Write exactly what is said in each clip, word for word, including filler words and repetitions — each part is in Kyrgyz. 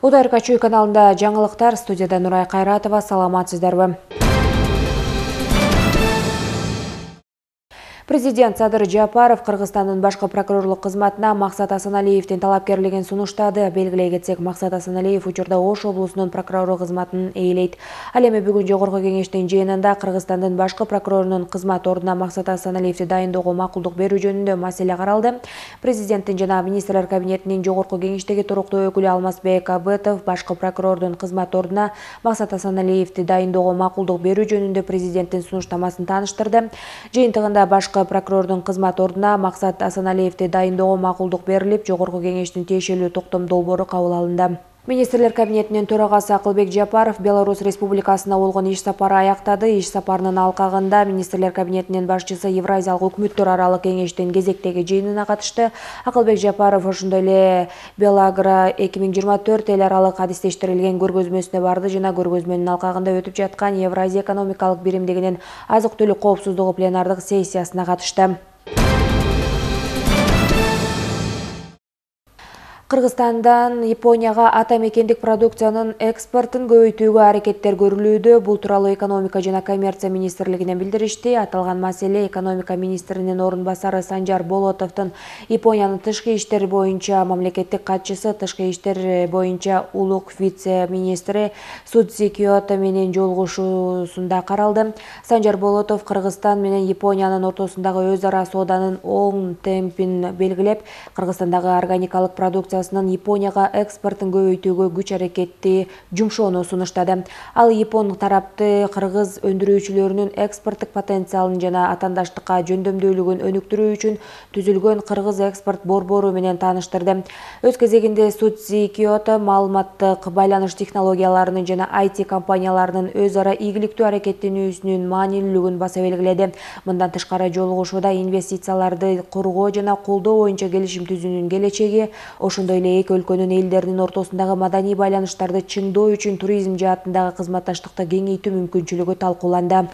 УДРК Чүй каналында жаңылыктар, студияда Нурай Кайратова, саламатсыздарбы? Президент Садыр Жапаров Кыргызстандын башкы прокурорлук кызматына Максат Асаналиевдин талапкерлигин сунуштады. Белгилей кетсек, Максат Асаналиев учурда Ош облусунун прокурору кызматын ээлейт. Ал эми бүгүн жогорку кеңештин жыйынында Кыргызстандын башкы прокурорунун кызмат ордуна Максат Асаналиевди дайындоого макулдук берүү жөнүндө маселе каралды. Президенттин жана министрлер кабинетинин жогорку кеңештеги туруктуу өкүлү Алмазбек Абытов башкы прокурордун кызмат ордуна Максат Асаналиевди дайындоого макулдук берүү жөнүндө президенттин сунуштамасын тааныштырды. Жыйынтыгында башкы прокурордун кызмат ордуна Максат Асаналиевди дайындоого макулдук берилип, жогорку кеңештин тиешелүү токтом долбоору кабыл алынды. Министрлер кабинетинин төрагасы Акылбек Жапаров Беларусь Республикасына болгон иш сапары аяктады. Иш сапарынын алкагында Министрлер кабинетинин башчысы Евразиялык өкмөттөр аралык кеңештин кезектеги жыйынына катышты. Акылбек Жапаров ошондой эле Белагра эки миң жыйырма төрт эл аралык адистештирилген көргөзмөсүнө барды жана көргөзмөнүн алкагында өтүп жаткан Евразия экономикалык биримдигинин азык-түлүк коопсуздугу пленардык сессиясына катышты. Кыргызстандан Японияга ата мекендик продукциянын экспортун көбөйтүүгө аракеттер көрүлүүдө. Бул тууралуу экономика жана коммерция министрлигинен билдиришти. Аталган маселе экономика министринин орун басары Санжар Болотовдун Япониянын тышкы иштер боюнча мамлекеттик катчысы, тышкы иштер боюнча улук вице-министри Судзи Киото менен жолугушуусунда каралды. Санжар Болотов Кыргызстан менен Япониянын ортосундагы өз ара сооданын оң темпин белгилеп, Кыргызстандагы органикалык продукция Японияга экспортун көбөйтүүгө күч аракетти жумшоону сунуштады. Ал Япон тарапты кыргыз өндүрүүчүлөрүнүн экспорттук потенциалын жана атаандаштыкка жөндөмдүүлүгүн өнүктүрүү үчүн түзүлгөн кыргыз экспорт борбору менен тааныштырды. Өз кезегинде Судзи Киото маалыматтык байланыш технологияларынын жана ай ти компанияларынын өз ара ийгиликтүү аракеттенүүсүнүн маанилүүлүгүн баса белгиледи. Мындан тышкары жолугушууда инвестицияларды коргоо жана колдоо боюнча келишим түзүүнүн келечеги, ошондой эле эки өлкөнүн элдеринин ортосундагы маданий байланыштарды чыңдоо үчүн туризм жаатындагы кызматташтыкты кеңейтүү мүмкүнчүлүгү талкууланды.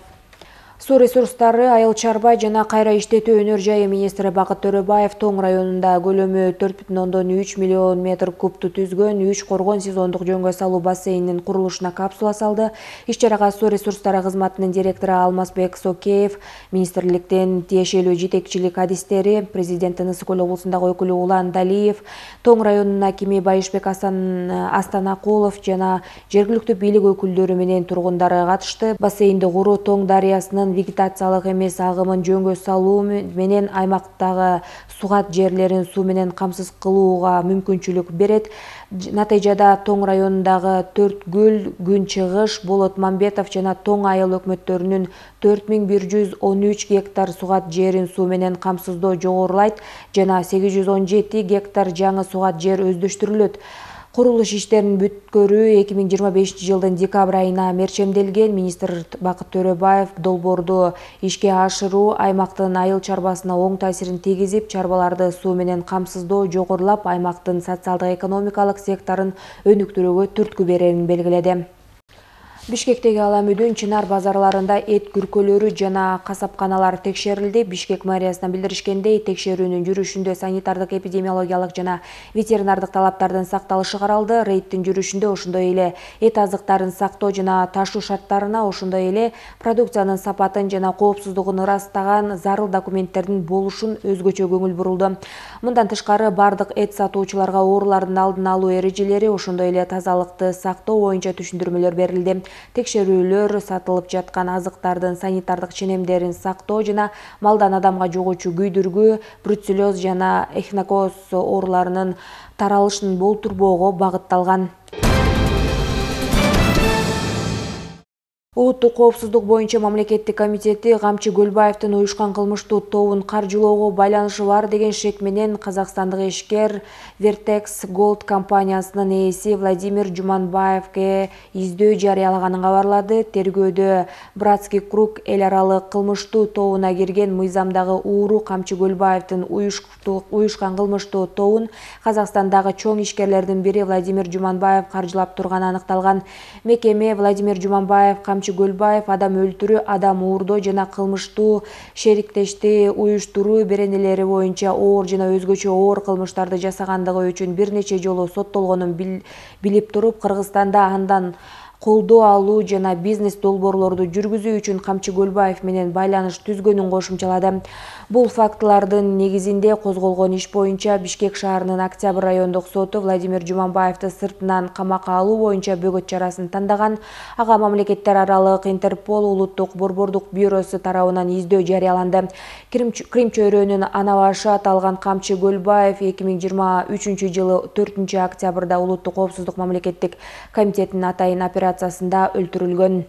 Суу ресурстары, айыл чарба жана кайра иштетүү өнөр жайы министри Бакыт Төрөбаев Тоң районунда көлөмү төрт бүтүн ондон үч миллион метр кубту түзгөн үч коргон сезондук жөнгө салуу бассейнинин курулушуна капсула салды. Иш-чарага суу ресурстары кызматынын директору Алмазбек Сокеев, министрликтин тиешелүү жетекчилик адистери, президенттин Ысык Көл облусундагы өкүлү Улан Далиев, Тоң районунун акими Байышбек Астанакулов жана жергиликтүү бийлик өкүлдөрү менен тургундары катышты. Бассейнди куруу Тоң дарыясынын вегетациялык эмес агымын жөнгө салуу менен аймактагы сугат жерлерин суу менен камсыз кылууга мүмкүнчүлүк берет. Натыйжада Тоң районундагы төрт көл, Күнчыгыш, Болот Мамбетов жана Тоң айыл өкмөттөрүнүн төрт миң бир жүз он үч гектар сугат жерин суу менен камсыздоо жогорулайт жана сегиз жүз он жети гектар жаңы сугат жер өздөштүрүлөт. Курулуш иштерин бүткөрүү эки миң жыйырма бешинчи жылдын декабрь айына мерчемделген. Министр Бакыт Төрөбаев долбоорду ишке ашыруу аймактын айыл чарбасына оң таасирин тийгизип, чарбаларды суу менен камсыздоо жогорулап, аймактын социалдык экономикалык секторун өнүктүрүүгө түрткү берерин белгиледи. Бишкектеги Ала Мүдүн, Чынар базарларында эт күркөлөрү жана касапканалар текшерилди. Бишкек мэриясынан билдиришкендей, текшерүүнүн жүрүшүндө санитардык, эпидемиологиялык жана ветеринардык талаптардын сакталышы каралды. Рейдтин жүрүшүндө ошондой эле эт азыктарын сактоо жана ташуу шарттарына, ошондой эле продукциянын сапатын жана коопсуздугун ырастаган зарыл документтердин болушун өзгөчө көңүл бурулду. Мындан тышкары бардык эт сатуучуларга оорулардын алдын алуу эрежелери, ошондой эле тазалыкты сактоо боюнча түшүндүрмөлөр берилди. Текшерүүлөр сатылып жаткан азыктардын санитардык ченемдерин сактоо жана малдан адамга жугуучу күйдүргү, бруцеллез жана эхинококоз ооруларынын таралышын болтурбоого багытталган. Улуттук коопсуздук боюнча мамлекеттик комитети Камчы Көлбаевдин уюшкан кылмыштуу тобун каржылоого байланышы бар деген шек менен казакстандык ишкер Vertex Gold компаниясынын ээси Владимир Жуманбаевге издөө жарыялаганын кабарлады. Тергөөдө Братский круг эл аралык кылмыштуу тобуна кирген мыйзамдагы ууру Камчы Көлбаевдин уюшкан кылмыштуу тобун Казакстандагы чоң ишкерлердин бири Владимир Жуманбаев каржылап турганы аныкталган. Мекеме Владимир Жуманбаев Камчы Көлбаев адам өлтүрүү, адам уурдоо жана кылмыштуу шериктешти уюштуруу беренелери боюнча оор жана өзгөчө оор кылмыштарды жасагандыгы үчүн бир нече жолу соттолгонун билип туруп, Кыргызстанда андан колдоо алуу жана бизнес долбоорлорду жүргүзүү үчүн Камчы Көлбаев менен байланыш түзгөнүн кошумчалады. Бул фактылардын негизинде козголгон иш боюнча Бишкек шаарынын Октябрь райондук соту Владимир Жуманбаевди сыртынан камакка алуу боюнча бөгөт чарасын тандаган. Ага мамлекеттер аралык Интерпол улуттук борбордук бюросу тарабынан издөө жарыяланды. Крим чөйрөнүн ана башы аталган Камчы Көлбаев эки миң жыйырма үчүнчү жылы төртүнчү октябрда улуттук коопсуздук мамлекеттик комитетинин атайын операциясында өлтүрүлгөн.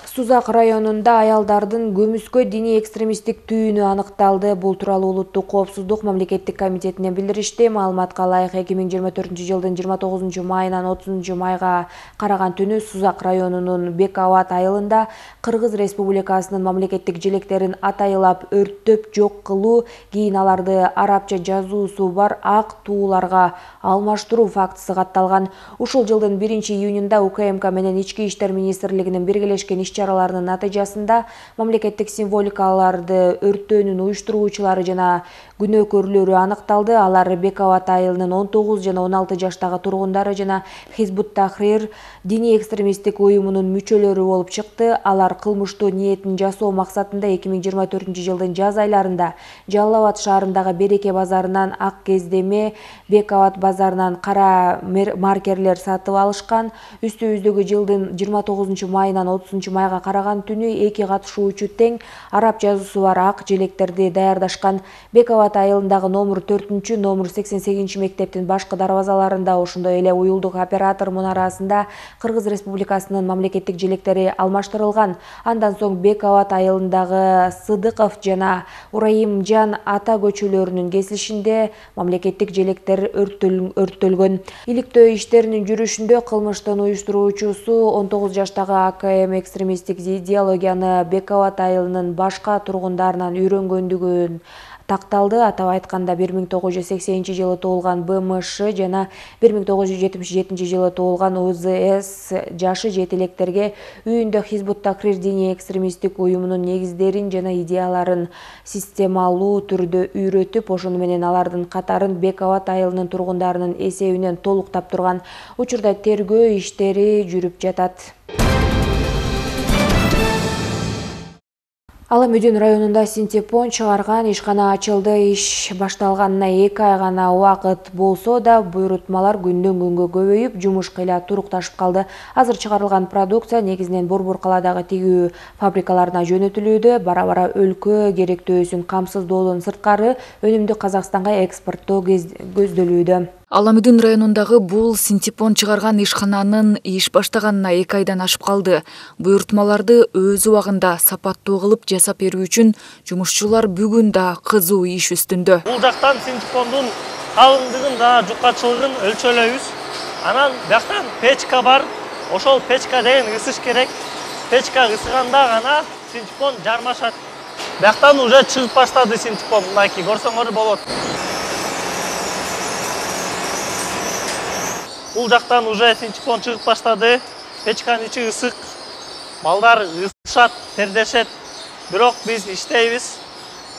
Сузак районунда аялдардын көмүскө диний экстремисттик түйүнү аныкталды. Бул тууралуу улуттук коопсуздук мамлекеттик комитетинен билдиришти. Маалыматка ылайык эки миң жыйырма төртүнчү жылдын жыйырма тогузунчу майынан отузунчу майга караган түнү Сузак районунун Бек Абад айылында Кыргыз Республикасынын мамлекеттик желектерин атайылап өрттөп жок кылуу, кийин аларды арабча жазуусу бар ак тууларга алмаштыруу фактысы катталган. Ушул жылдын биринчи июнунда УКМК менен Ички иштер министрлигинин биргелешкен иш-чараларынын натыйжасында мамлекеттик символикаларды өрттөөнүн уюштуруучулары жана күнөөкөрлөрү аныкталды. Алар Бек Абад айылынын он тогуз жана он алты жаштагы тургундары жана Хизбут Тахрир диний экстремисттик уюмунун мүчөлөрү болуп чыкты. Алар кылмыштуу ниетин жасоо максатында эки миң жыйырма төртүнчү жылдын жаз айларында Жалал Абад шаарындагы Береке базарынан ак кездеме, Бек Абад базарынан кара маркерлер сатып алышкан. Үстүбүздөгү жылдын жыйырма тогузунчу майынан отузунчу майга караган түнү эки катышуучу тең араб жазуусу бар ак желектерди даярдашкан. Бек Абад айылындагы номер төртүнчү, номер сексен сегизинчи мектептин башкы дарбазаларында, ошондой эле уюлдук оператор мунарасында Кыргыз Республикасынын мамлекеттик желектери алмаштырылган. Андан соң Бек Абад айылындагы Сыдыков жана Ураимжан ата көчөлөрүнүн кесилишинде мамлекеттик желектер өрттөлгөн. Иликтөө иштеринин жүрүшүндө кылмыштын уюштуруучусу он тогуз жаштагы АКМ экстремисттик идеологияны Бек Абад айылынын башка тургундарынан үйрөнгөндүгүн такталды. Атап айтканда бир миң тогуз жүз сексенинчи жылы туулган БМШ жана бир миң тогуз жүз жетимиш жетинчи жылы туулган УЗС жашы жетилектерге үйүндө Хизбут Тахрир диний экстремисттик уюмунун негиздерин жана идеяларын системалуу түрдө үйрөтүп, ошону менен алардын катарын Бек Абад айылынын тургундарынын эсебинен толуктап турган. Учурда тергөө иштери жүрүп жатат. Ала Мүдүн районунда синтепон чыгарган ишкана ачылды. Иш башталганына эки ай гана убакыт болсо да, буйрутмалар күндөн күнгө көбөйүп, жумуш кыйла турукташып калды. Азыр чыгарылган продукция негизинен Борбор каладагы тигүү фабрикаларына жөнөтүлүүдө. Бара-бара өлкө керектөөсүн камсыздоодон сырткары өнүмдү Казакстанга экспорттоо көздөлүүдө. Ала Мүдүн районундагы бул синтепон чыгарган ишкананын иш баштаганына эки айдан ашып калды. Буйртмаларды өз убагында сапаттуу кылып жасап берүү үчүн жумушчулар бүгүн да кызуу иш үстүндө. Бул жактан синтепондун калыңдыгын жана жукачылыгын өлчөлөйбүз. Анан бияктан печка бар. Ошол печка деген ысыш керек. Печка ысыганда гана синтепон жармашат. Бияктан уже чыгып баштады синтепон. Мынакей көрсөңөр болот. Бул жактан уже синтепон чыгып баштады. Печканын ичи ысык. Балдар ысышат, тердешет. Бирок биз иштейбиз.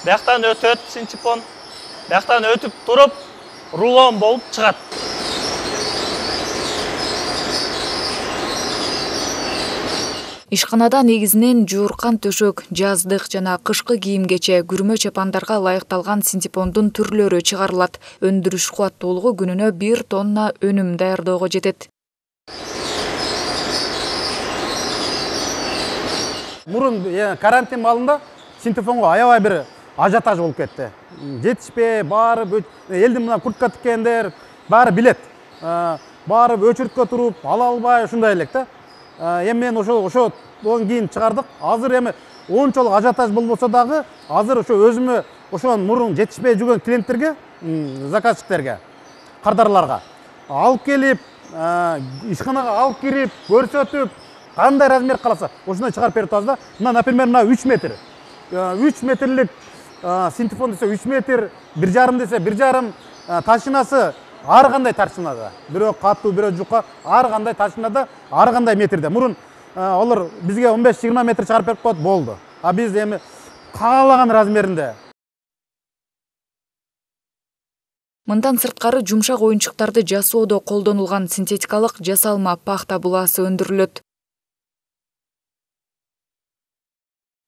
Бияктан өтөт синтепон. Бияктан өтүп туруп, рулон болуп чыгат. Ишканада негизинен жууркан төшөк, жаздык жана кышкы кийимгече күрмө чапандарга ылайыкталган синтепондун түрлөрү чыгарылат. Өндүрүш кубаттуулугу күнүнө бир тонна өнүм даярдоого жетет. Мурун карантин маалында синтепонго аябай бир ажиотаж болуп кетти. Жетишпей, баары элдин мына куртка тиккендер баары билет. Баары өчүрткө туруп, ала албай ушундай элек да. Эми мен ошо ошо он кийин чыгардык. Азыр эми ончолук ажиотаж болбосо дагы, азыр ошо өзүмө ошон мурун жетишпей жүргөн клиенттерге, заказчиктерге, кардарларга алып келип, ишканага алып кирип, көрсөтүп, кандай размер каласа, ошондой чыгарып берип атабыз да. Мына, например, мына үч метр. үч метрлик синтепон десе үч метр, бир жарым десе бир жарым, ташынасы ар кандай ташынада. Бирөө катуу, бирөө жука, ар кандай ташынада, ар кандай метрде. Мурун олар бизге он беш жыйырма метр чыгарып берип коет, болду. А биз эми каалаган размеринде. Мындан сырткары жумшак оюнчуктарды жасоодо колдонулган синтетикалык жасалма пахта буласы өндүрүлөт.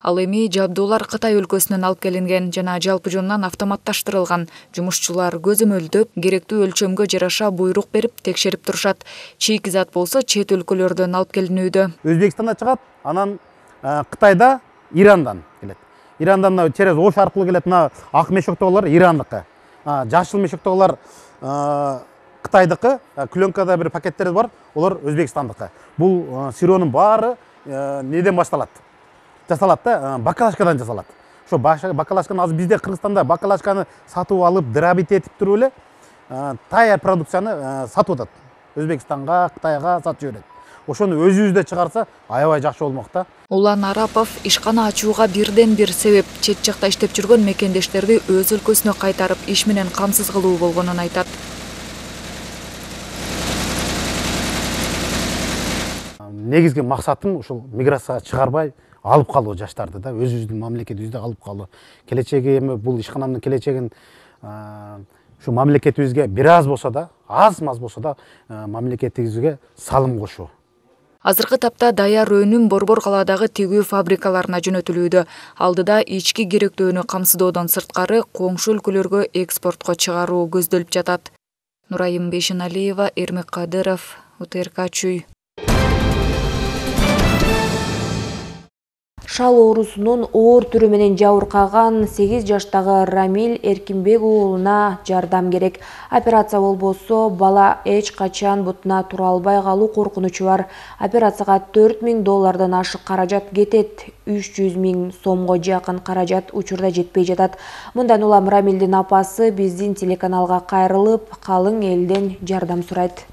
Ал эми жабдуулар Кытай өлкөсүнөн алып келинген жана жалпы жонунан автоматташтырылган. Жумушчулар көзөмөлдөп, керектүү өлчөмгө жараша буйрук берип текшерип турушат. Чийки зат болсо чет өлкөлөрдөн алып келинүүдө. Өзбекстанда чыгат, анан Кытайда Ирандан келет. Ирандан через Ош аркылуу келет. Мына ак мешоктогулар Ирандыкы. Жашыл мешоктогулар Кытайдыкы, пленкада бир пакеттер бар, олар Өзбекстандыкы. Бул сыроонун баары неден башталат? Жасалат да, бакалашкадан жасалат. Ошо бакалашканы азыр бизде Кыргызстанда бакалашканы сатып алып, дырабит этип туруп эле таяр продукцияны сатып атат. Өзбекстанга, Кытайга сатып жиберет. Ошону өзүбүздө чыгарса, аябай жакшы болмок да. Улан Арапов ишкана ачууга бирден бир себеп чет жакта иштеп жүргөн мекендештерди өз өлкөсүнө кайтарып, иш менен камсыз кылуу болгонун айтат. Негизги максатым ушул миграцияга чыгарбай алып калуу жаштарды да, өзүбүздүн мамлекетибизде алып калуу. Келечеги эми бул ишканамдын келечегин ушу мамлекетибизге бир аз болсо да, аз-маз болсо да мамлекетибизге салым кошуу. Азыркы тапта даяр өнүм Борбор калаадагы тигүү фабрикаларына жөнөтүлүүдө. Алдыда ички керектөөнү камсыздоодон сырткары коңшу өлкөлөргө экспортко чыгаруу көздөлүп жатат. Нурайым Бейшеналиева, Эрмек Кадыров, УТРК Чүй. Шал оорусунун оор түрү менен жабыркаган сегиз жаштагы Рамиль Эркинбек уулуна жардам керек. Операция болбосо бала эч качан бутуна тура албай калуу коркунучу бар. Операцияга төрт миң доллардан ашык каражат кетет. үч жүз миң сомго жакын каражат учурда жетпей жатат. Мындан улам Рамилдин апасы биздин телеканалга кайрылып, калың элден жардам сурайт.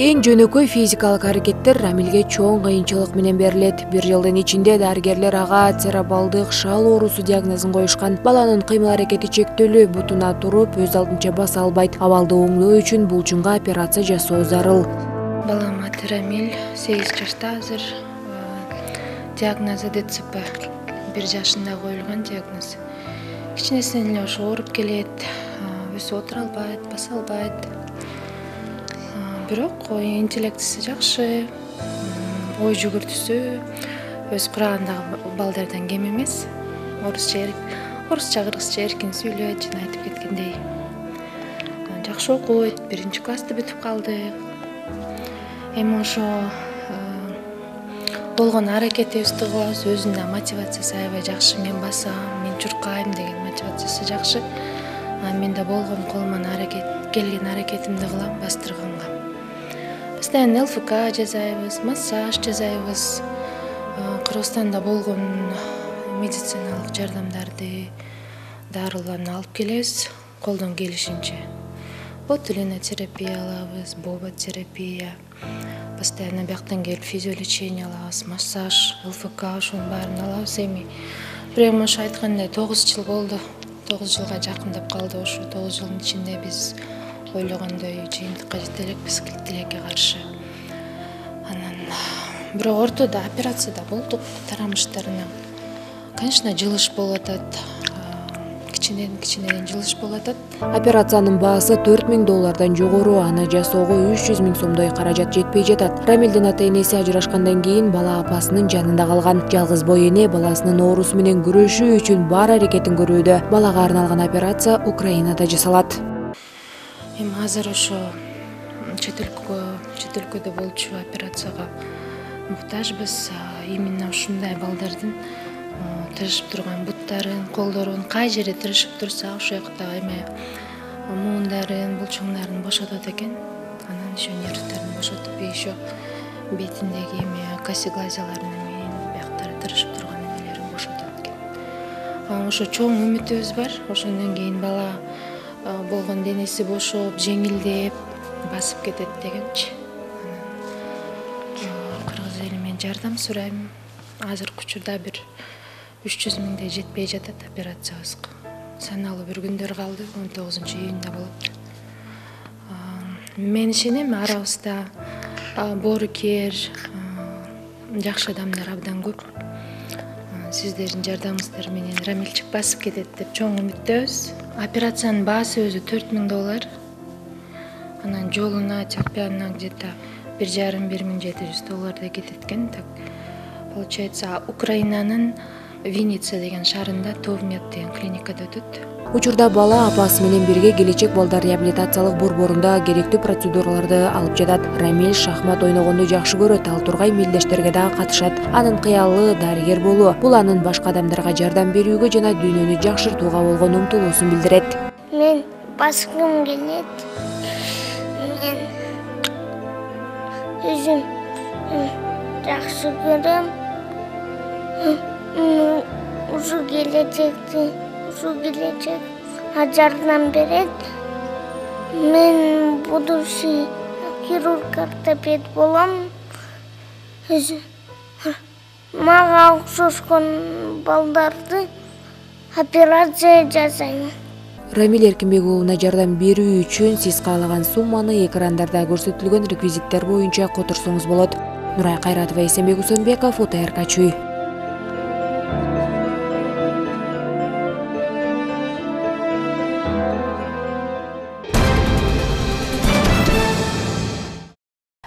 Эң жөнөкөй физикалык аракеттер Рамилге чоң кыйынчылык менен берилет. Бир жылдын ичинде дарыгерлер ага церебралдык шал оорусу диагнозун коюшкан. Баланын кыймыл аракети чектөлүү, бутуна туруп, өз алдынча баса албайт. Абалды оңдоо үчүн булчунга операция жасоо зарыл. Балам аты Рамиль, сегиз жашта азыр. Диагнозу ДЦП. бир жашында коюлган диагноз. Кичинесинен эле ошо ооруп келет, өсүп отура албайт, баса албайт. Бирок интеллектиси жакшы, ой жүгүртүүсү өз курагындагы балдардан кем эмес. Орусча, орусча, кыргызча эркин сүйлөйт, жана айтып кеткендей. Жакшы окуйт, биринчи классты бүтүп калды. Эми ошо болгон аракетибизди кылабыз, өзүнүн мотивациясы аябай жакшы. Мен басам, мен чуркайм деген мотивациясы жакшы. Мен да болгон колуман аракет, келген аракетимди кылам бастырганга. Постоянно ЛФК жасайбыз, массаж жасайбыз. Кыргызстанда болгон медициналык жардамдарды, дарыларды алып келебиз, колдон келишинче. Ботулинотерапия алабыз, боботерапия. Постоянно бияктан келип физиолечение алабыз, массаж, ЛФК ошонун баарын алабыз эми. Бирок ошо айткандай тогуз жыл болду. тогуз жылга жакындап калды ошо. тогуз жылдын ичинде биз ойлогондой жыйынтыкка жете элекпиз тилекке каршы. Анан бирок ортодо операцияда болдук тарамыштарына. Конечно, жылыш болуп атат. Кичинеден кичинеден жылыш болуп атат. Операциянын баасы төрт миң доллардан жогору, аны жасоого үч жүз миң сомдой каражат жетпей жатат. Рамилдин ата-энеси ажырашкандан кийин бала апасынын жанында калган. Жалгыз бой эне баласынын оорусу менен күрөшүү үчүн бар аракетин көрүүдө. Балага арналган операция Украинада жасалат. Эми азыр ошо чет өлкөгө, чет өлкөдө болчу операцияга муктажбыз. Именно ушундай балдардын тырышып турган буттарын, колдорун, кай жерде тырышып турса, ошол жакта эме муундарын, булчуңдарын бошотот экен. Анан ошо нервдерин бошотуп, ошо бетиндеги эме косоглазияларын менен бияктары тырышып турган эмелерин бошотот экен. Ошо чоң үмүтүбүз бар. Ошондон кийин бала болгон денеси бошоп, жеңилдеп, басып кетет дегенчи. Анан кыргыз эли менен жардам сурайм. Азыркы учурда бир үч жүз миңдей жетпей жатат операциябызга. Саналуу бир күндөр калды, он тогузунчу июнда болот. Мен ишенем, арабызда боорукер, жакшы адамдар абдан көп. Сиздердин жардамыңыздар менен Рамилчик басып кетет деп чоң үмүттөбүз. Операциянын баасы өзү төрт миң доллар. Анан жолуна чакпиянына где-то бир жарым бир миң жети жүз доллардай кетет экен. Так получается, Украинанын Винница деген шаарында Товмет деген клиникада өтөт. Учурда бала апасы менен бирге келечек балдар реабилитациялык борборунда керектүү процедураларды алып жатат. Рамиль шахмат ойногонду жакшы көрөт, ал тургай мелдештерге дагы катышат. Анын кыялы дарыгер болуу. Бул анын башка адамдарга жардам берүүгө жана дүйнөнү жакшыртууга болгон умтулуусун билдирет. Мен баскым келет. Мен өзүм жакшы көрөм. Ушу келечекти Ушу келечек жардам берет. Мен будущий хирург ортопед болом. Мага окшошкон балдарды операция жасайм. Рамиль Эркинбек уулуна жардам берүү үчүн сиз каалаган сумманы экрандарда көрсөтүлгөн реквизиттер боюнча которсоңуз болот. Нурай Кайратова, Эсенбек Усенбеков, УТРК Чүй.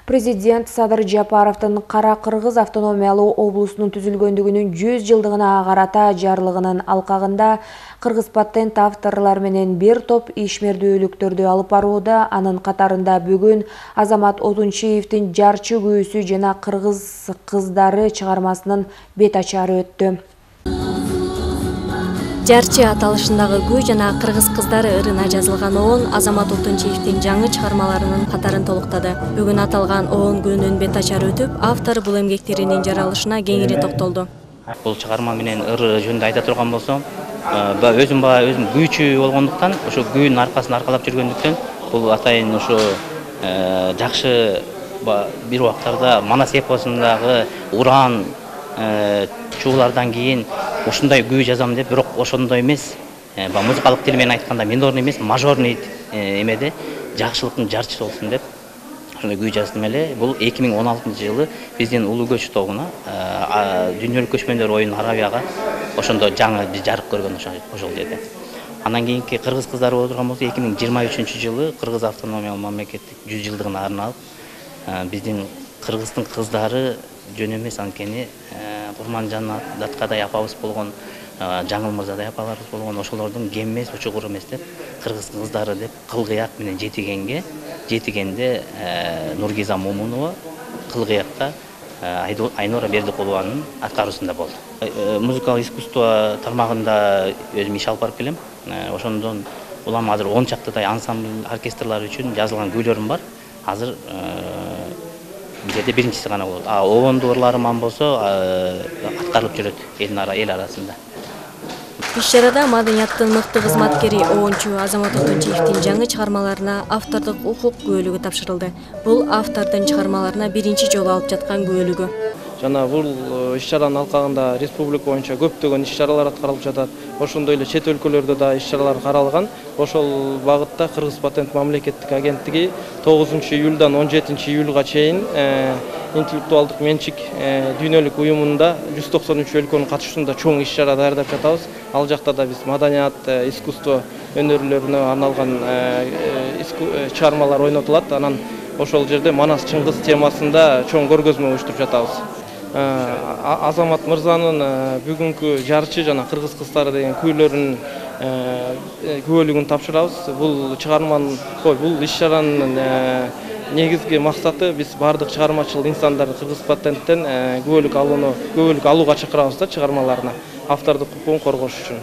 Президент Садыр Жапаровдун Кара Кыргыз автономиялуу облусунун түзүлгөндүгүнүн жүз жылдыгына карата жарлыгынын алкагында кыргыз патент авторлор менен бир топ ишмердүүлүктөрдү алып барууда. Анын катарында бүгүн Азамат Отунчиевдин Жарчы күүсү жана Кыргыз кыздары чыгармасынын бет ачары өттү. Жарчы аталышындагы күү жана Кыргыз кыздары ырына жазылган оон Азамат Отунчиевдин жаңы чыгармаларынын катарын толуктады. Бүгүн аталган оон күнүнүн бет ачары өтүп, автор бул эмгектеринин жаралышына кеңири токтолду. Бул чыгарма менен ыр жөнүндө айта турган болсом, өзүм баа өзүм күүчү болгондуктан, ошо күүнүн аркасын аркалап жүргөндүктөн, бул атайын ошо жакшы бир убактарда Манас эпосундагы уран чуулардан кийин ушундай күү жазам деп, бирок ошондой эмес, музыкалык тил менен айтканда минорный эмес, мажорный эмеде жакшылыктын жарчысы болсун деп ошондой күү жаздым эле. Бул эки миң он алтынчы жылы биздин улуу көч тобуна, дүйнөлүк көчмөндөр оюну Арабияга ошондо жаңы биз жарык көргөн ошол жерде. Андан кийинки Кыргыз кыздары боло турган болсо, эки миң жыйырма үчүнчү жылы Кыргыз автономиялык мамлекеттик жүз жылдыгына арналып биздин Кыргыздын кыздары жөн эмес, анткени Курманжан Даткадай апабыз болгон, Жаңыл Мырзадай апаларыбыз болгон, ошолордун кем эмес, учугур эмес деп Кыргыз кыздары деп кылгыяк менен жетигенге, жетигенде Нургиза Момунова, кылгыякта Айнура Бердикулованын аткаруусунда болду. Музыкалык искусство тармагында өзүм иш алып барып келем. Ошондон улам азыр он чактыдай ансамбль, оркестрлар үчүн жазылган күйлөрүм бар. Азыр бизде биринчиси гана болот. А оонду ырларым болсо аткарылып жүрөт эл арасында. Иш-чарада маданияттын мыкты кызматкери оончу Азамат Отунчиевдин жаңы чыгармаларына автордук укук күбөлүгү тапшырылды. Бул автордун чыгармаларына биринчи жолу алып жаткан күбөлүгү. Жана бул иш-чаранын алкагында республика боюнча көптөгөн иш-чаралар аткарылып жатат. Ошондой эле чет өлкөлөрдө да иш-чаралар каралган. Ошол багытта Кыргыз патент мамлекеттик агенттиги тогузунчу июлдан он жетинчи июлга чейин интеллектуалдык менчик дүйнөлүк уюмунда жүз токсон үч өлкөнүн катышуусунда чоң иш-чара даярдап жатабыз. Ал жакта да биз маданият, искусство өнөрлөрүнө арналган чыгармалар ойнотулат. Анан ошол жерде Манас Чыңгыз темасында чоң көргөзмө уюштуруп жатабыз. Азамат Мырзанын бүгүнкү Жарчы жана Кыргыз кыздары деген күйлөрүнүн күбөлүгүн тапшырабыз. Бул чыгарманын, бул иш-чаранын негизги максаты биз бардык чыгармачыл инсандарды Кыргыз патенттен күбөлүк алууну, күбөлүк алууга чакырабыз да чыгармаларына, автордук укугун коргош үчүн.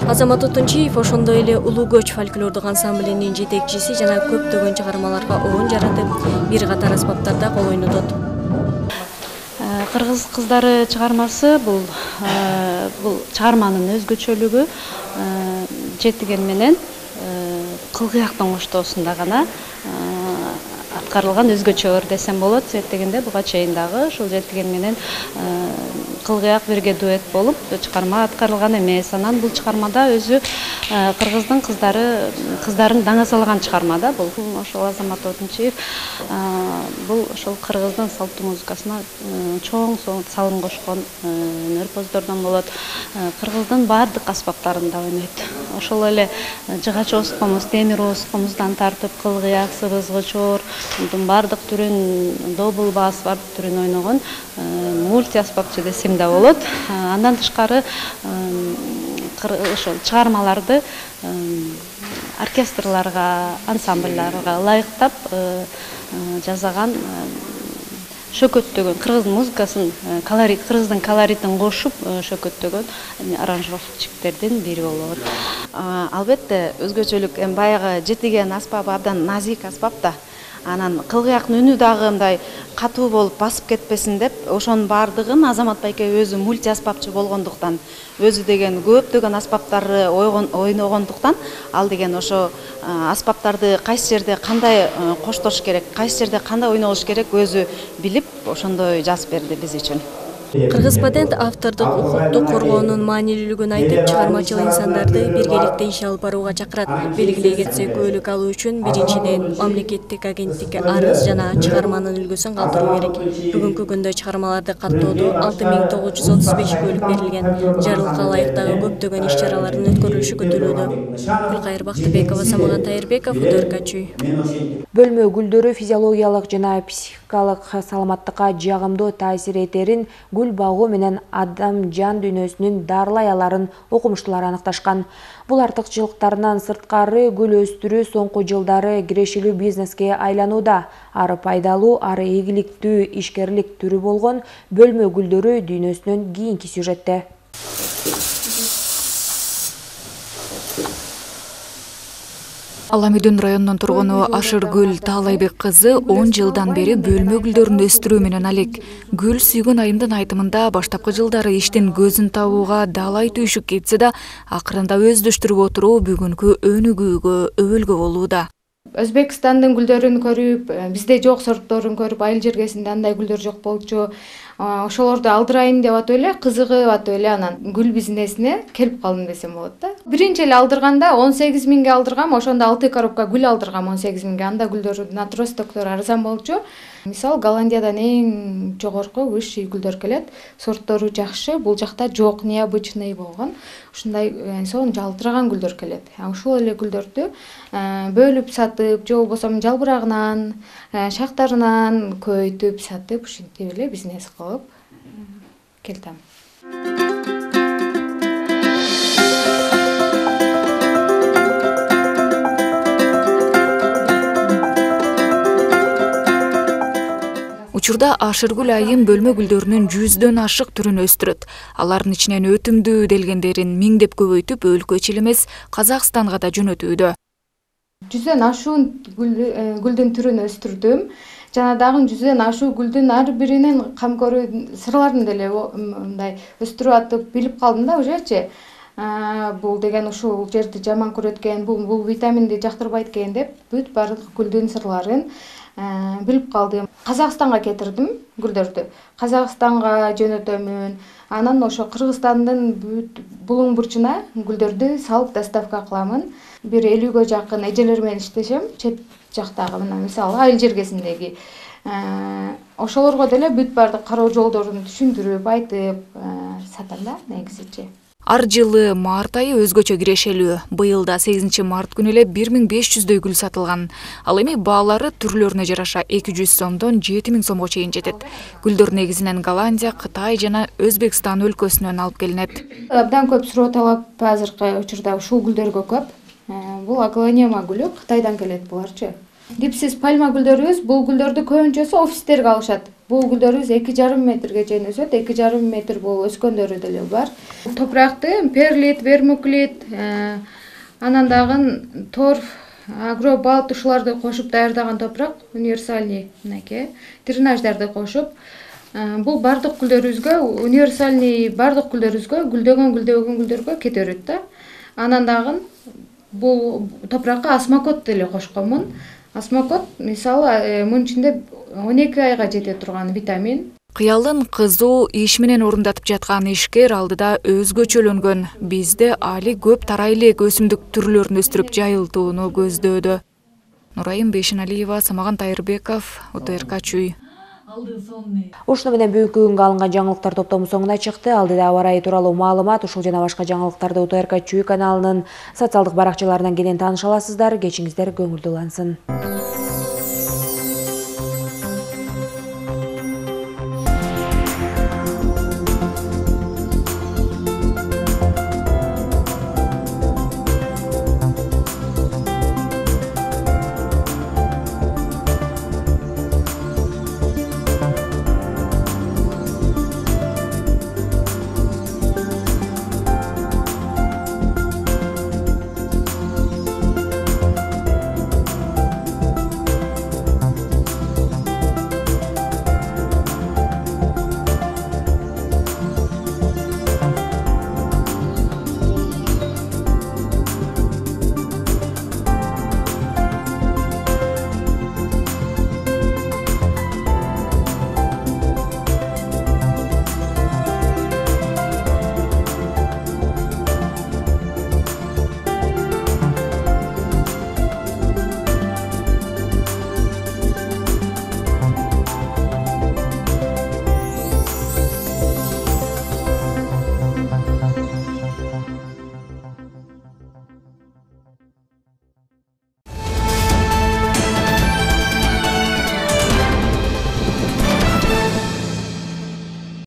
Азамат Отунчиев ошондой эле Улуу көч фольклордук ансамблинин жетекчиси жана көптөгөн чыгармаларга оон жаратып, бир катар аспаптарда кол ойнотот. Кыргыз кыздары чыгармасы бул бул чыгарманын өзгөчөлүгү жетиген менен кылгыяктын коштоосунда гана аткарылган өзгөчө ыр десем болот. Сеттегенде буга чейин дагы ушул Жетиген менен Кылгыяк бирге дуэт болуп чыгарма аткарылган эмес. Анан бул чыгармада өзү кыргыздын кыздары кыздарын даңазалаган чыгарма да бул. Ошол Азамат Отунчиев бул ошол кыргыздын салттуу музыкасына чоң салым кошкон өнөрпоздордон болот. Кыргыздын баардык аспаптарында ойнойт. Ошол эле жыгач оскомуз, темир оскомуздан тартып кылгыяк, сыбызгычоор, баардык түрүн, добл бас баардык түрүн ойногон мульти аспапчы десем да болот. Андан тышкары ошол чыгармаларды оркестрларга, ансамбльларга ылайыктап жасаган шөкөттөгөн кыргыздын музыкасын, колорит, кыргыздын колоритин кошуп шөкөттөгөн аранжировщиктердин бири болот. Албетте өзгөчөлүк эми баягы Жетиген аспабы абдан назик аспап да. Анан кылгыяктын үнү дагы мындай катуу болуп басып кетпесин деп, ошонун баардыгын Азамат байке өзү мульти аспапчы болгондуктан, өзү деген көптөгөн аспаптарды ойногондуктан, ал деген ошо аспаптарды кайсы жерде кандай коштош керек, кайсы жерде кандай ойнолуш керек өзү билип, ошондой жазып берди биз үчүн. Кыргыз патент автордук укукту коргоонун маанилүүлүгүн айтып, чыгармачыл инсандарды биргеликте иш алып барууга чакырат. Белгилей кетсек, көөлүк алуу үчүн биринчиден мамлекеттик агенттикке арыз жана чыгарманын үлгүсүн калтыруу керек. Бүгүнкү күндө чыгармаларды каттоодо алты миң тогуз жүз отуз беш көөлүк берилген. Жарылка ылайыктагы көптөгөн иш чаралардын өткөрүлүшү күтүлүүдө. Гүлкайыр Бактыбекова, Самаган Тайырбеков, Удөрка Чүй. Бөлмө гүлдөрү физиологиялык жана психикалык саламаттыкка жагымдуу таасир этерин гүл багуу менен адам жан дүйнөсүнүн дарылай аларын окумуштуулар аныкташкан. Бул артыкчылыктарынан сырткары гүл өстүрүү соңку жылдары кирешилүү бизнеске айланууда. Ары пайдалуу, ары ийгиликтүү ишкерлик түрү болгон бөлмө гүлдөрү дүйнөсүнөн кийинки сюжетте. Аламүдүн районунун тургуну Ашыргүл Таалайбек кызы он жылдан бери бөлмө гүлдөрүн өстүрүү менен алек. Гүл сүйгөн айымдын айтымында баштапкы жылдары иштин көзүн табууга далай түйшүк кетсе да, акырында өздөштүрүп отуруу бүгүнкү өнүгүүгө өбөлгө болууда. Өзбекстандын гүлдөрүн көрүп, бизде жок сортторун көрүп, айыл жергесинде андай гүлдөр жок болчу. Ошолорду алдырайын деп атып эле, кызыгып атып эле анан гүл бизнесине келип калдым десем болот да. Биринчи эле алдырганда он сегиз миңге алдыргам, ошондо алты коробка гүл алдыргам он сегиз миңге. Анда гүлдөр натростоктор арзан болчу. Мисал Голландиядан эң жогорку высший гүлдөр келет. Сорттору жакшы, бул жакта жок, необычный болгон. Ушундай сонун жалтыраган гүлдөр келет. Ушул эле гүлдөрдү бөлүп сатып, же болбосо жалбырагынан, шактарынан көйтүп сатып, ушинтип эле бизнес кылып келдим. Учурда Ашыргүл айым бөлмө гүлдөрүнүн жүздөн ашык түрүн өстүрөт. Алардын ичинен өтүмдүү делгендерин миңдеп көбөйтүп, өлкө ичи эмес, Казакстанга да жөнөтүүдө. Жүздөн ашуун гүлдүн түрүн өстүрдүм. Жана дагы жүздөн ашуу гүлдүн ар биринин камкору сырларын деле мындай өстүрүп атып билип калдым да ужечи. Бул деген ушул жерди жаман көрөт экен, бул бул витаминди жактырбайт экен деп бүт баардык гүлдүн сырларын билип калдым. Казакстанга кетирдим гүлдөрдү. Казакстанга жөнөтөмүн. Анан ошо Кыргызстандын бүт булуң бурчуна гүлдөрдү салып доставка кыламын. Бир элүүгө жакын эжелер менен иштешем. Чет жактагы мына мисалы айыл жергесиндеги ошолорго деле бүт баардык кароо жолдорун түшүндүрүп, айтып сатам да негизичи. Ар жылы март айы өзгөчө кирешелүү. Быйыл да сегизинчи март күнү эле бир миң беш жүздөй гүл сатылган. Ал эми баалары түрлөрүнө жараша эки жүз сомдон жети миң сомго чейин жетет. Гүлдөр негизинен Голландия, Кытай жана Өзбекстан өлкөсүнөн алып келинет. Абдан көп суроо талап азыркы учурда ушул гүлдөргө көп. Бул аглонема гүлү, Кытайдан келет буларчы. Дипсиз пальма гүлдөрүбүз, бул гүлдөрдү көбүнчөсү офистерге алышат. Бул гүлдөрүбүз эки жарым метрге чейин өсөт, эки жарым метр болуп өскөндөрү деле бар. Топуракты перлит, вермуклит, анан дагы торф, агробалт ушуларды кошуп даярдаган топурак, универсальный мынакей, дренаждарды кошуп, бул бардык гүлдөрүбүзгө, универсальный бардык гүлдөрүбүзгө, гүлдөгөн гүлдөгөн гүлдөргө кете берет да. Анан дагы бул топуракка осмокот деле кошконмун. Осмокот мисалы мунун ичинде он эки айга жете турган витамин. Кыялын кызуу иш менен орундатып жаткан ишкер алдыда өзгөчөлөнгөн. Бизде али көп тарайлы өсүмдүк түрлөрүн өстүрүп жайылтууну көздөөдө. Нурайым Бейшеналиева, Самаган Тайырбеков, О Т Р К Чүй. Ушуну менен бүгүнкү күнгө алынган жаңылыктар топтому соңуна чыкты. Алдыда аба ырайы тууралуу маалымат, ушул жана башка жаңылыктарды О Т Р К Чүй каналынын социалдык баракчаларынан кенен тааныша аласыздар. Кечиңиздер көңүлдүү улансын.